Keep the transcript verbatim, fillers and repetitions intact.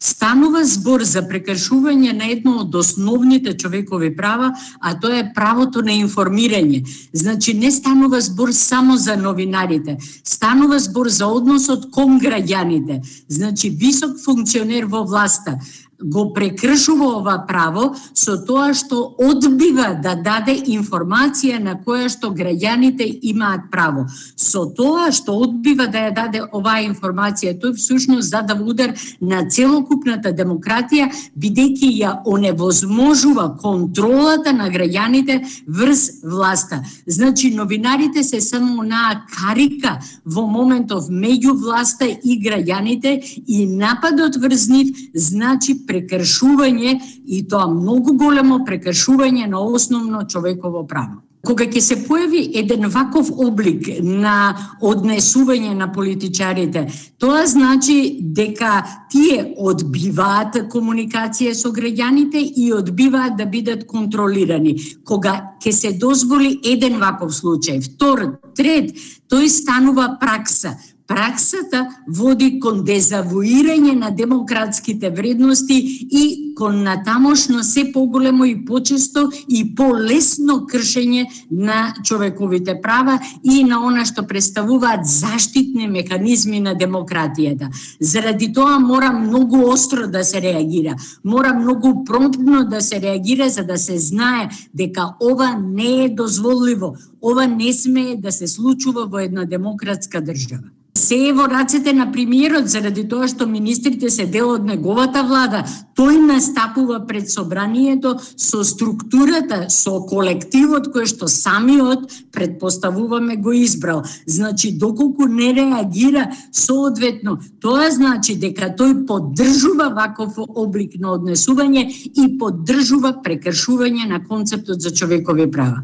станува збор за прекршување на едно од основните човекови права, а тоа е правото на информирање. Значи не станува збор само за новинарите, станува збор за односот кон граѓаните. Значи висок функционер во власта го прекршува ова право со тоа што одбива да даде информација на која што граѓаните имаат право. Со тоа што одбива да ја даде оваа информација, тој всушност задава удар на целокупната демократија, бидејќи ја оневозможува контролата на граѓаните врз власта. Значи новинарите се само онаа карика во моментов меѓу власта и граѓаните и нападот врз нив значи прекршување и тоа многу големо прекршување на основно човеково право. Кога ќе се појави еден ваков облик на однесување на политичарите, тоа значи дека тие одбиваат комуникација со граѓаните и одбиваат да бидат контролирани. Кога ќе се дозволи еден ваков случај, втор, трет, тој станува пракса. Праксата води кон дезавуирање на демократските вредности и кон натамошно се поголемо и почесто и полесно кршење на човековите права и на она што представуваат заштитни механизми на демократијата. Заради тоа мора многу остро да се реагира, мора многу промптно да се реагира за да се знае дека ова не е дозволиво, ова не смее да се случува во една демократска држава. Се е во рацете на премиерот заради тоа што министрите се дел од неговата влада. Тој настапува пред собранието со структурата, со колективот кој што самиот предпоставуваме го избрал. Значи доколку не реагира соодветно, тоа значи дека тој поддржува ваков облик на однесување и поддржува прекршување на концептот за човекови права.